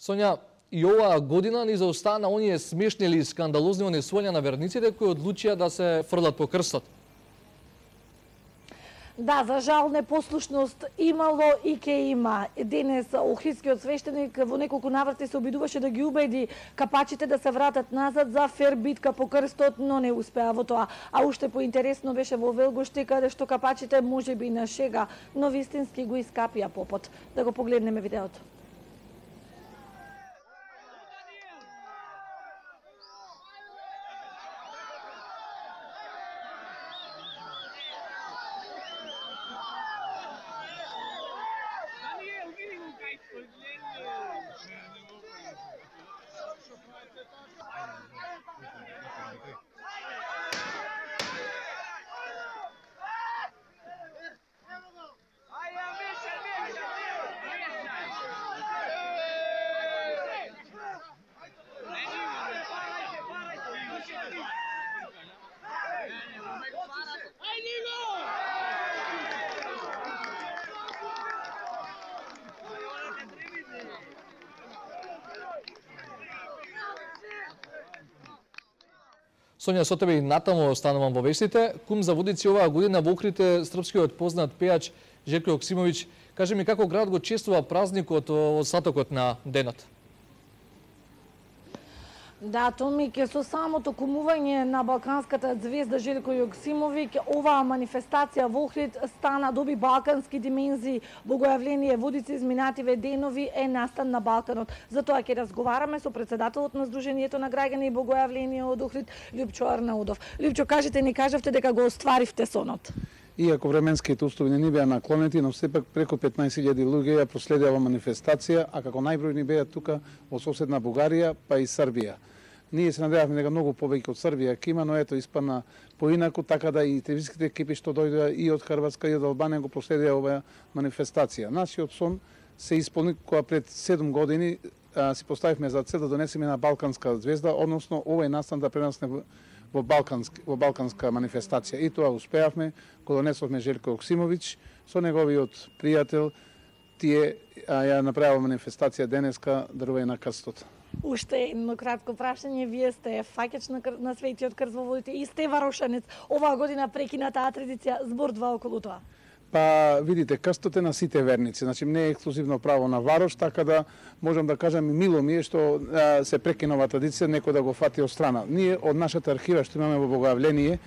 Сонја, и оваа година ни заостана оние смешни или скандалозни онесувања на верниците кои одлучија да се фрлат по крстот. Да, за жал непослушност имало и ке има. Денес охридскиот свештеник во неколку наврати се обидуваше да ги убеди капачите да се вратат назад за фер битка по крстот, но не успеа во тоа. А уште поинтересно беше во Велгоште, каде што капачите можеби на шега, но вистински го искапија попот. Да го погледнеме видеото. Сонја, со тебе и натаму останувам во вестите. Кум за водици оваа година во Охрид српскиот познат пејач Желко Јоксимовиќ. Кажи ми како град го чествува празникот во сатокот на денот? Да, Томике, со самото кумување на балканската звезда Желко Јоксимовиќ, оваа манифестација во Охрид доби балкански димензии. Богојавление водици изминативе денови е настан на Балканот. Затоа ќе разговараме со председателот на Сдруженијето на граѓани и Богојавление од Охрид, Љупчо Арнаудов. Љупчо, кажете ни, кажавте дека го остваривте сонот. Иако временските услови не ни беа наклонети, но сепак преку 15.000 луѓе ја проследија ова манифестација, а како најбројни беа тука во соседна Бугарија, па и Србија. Ние се надевавме дека многу повеќе од Србија ќе има, но ето испадна поинаку, така да и телевизиските екипи што дојдоа и од Хрватска и од Албанија го проследија оваа манифестација. Нашиот сон се исполни кога пред 7 години си поставивме за цел да донесеме на балканска звезда, односно овој настан да пренесне во балканска манифестација. И тоа успеавме, го донесовме Желко Јоксимовиќ со неговиот пријател, тие ја направила манифестација денеска дарување на крстот. Уште едно кратко прашање, вие сте фаќач на Светиот крст во водите и сте варошанец. Оваа година прекина таа традиција, збордва околу тоа. Па, видите, крстот е на сите верници, значи не е ексклузивно право на варош, така да можам да кажам и мило ми е што се прекина оваа традиција, некој да го фати од страна. Ние од нашата архива што имаме во Богојавление,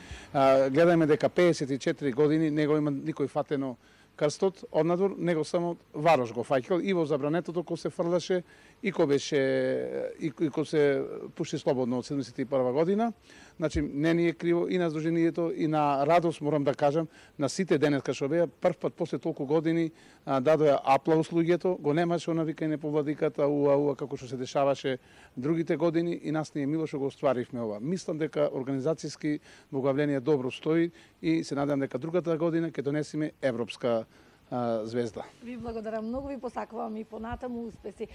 гледаме дека 54 години не го има никој фатено крстот однадвор, него само варош го фаќал и во забранетото кој се фрлаше и кој беше и кој се пушти слободно од 71 година. Значи не ни е криво и на Сдруженијето и на радост морам да кажам на сите денеска што беа прв пат после толку години дадоа аплауз луѓето, го немаше она викање по владиката уа како што се дешаваше другите години и нас ни е мило што го остваривме ова. Мислам дека организацијски Богојавление добро стои и се надевам дека другата година ќе донесеме европска звезда. Ви благодарам многу, ви посакувам и понатаму успеси.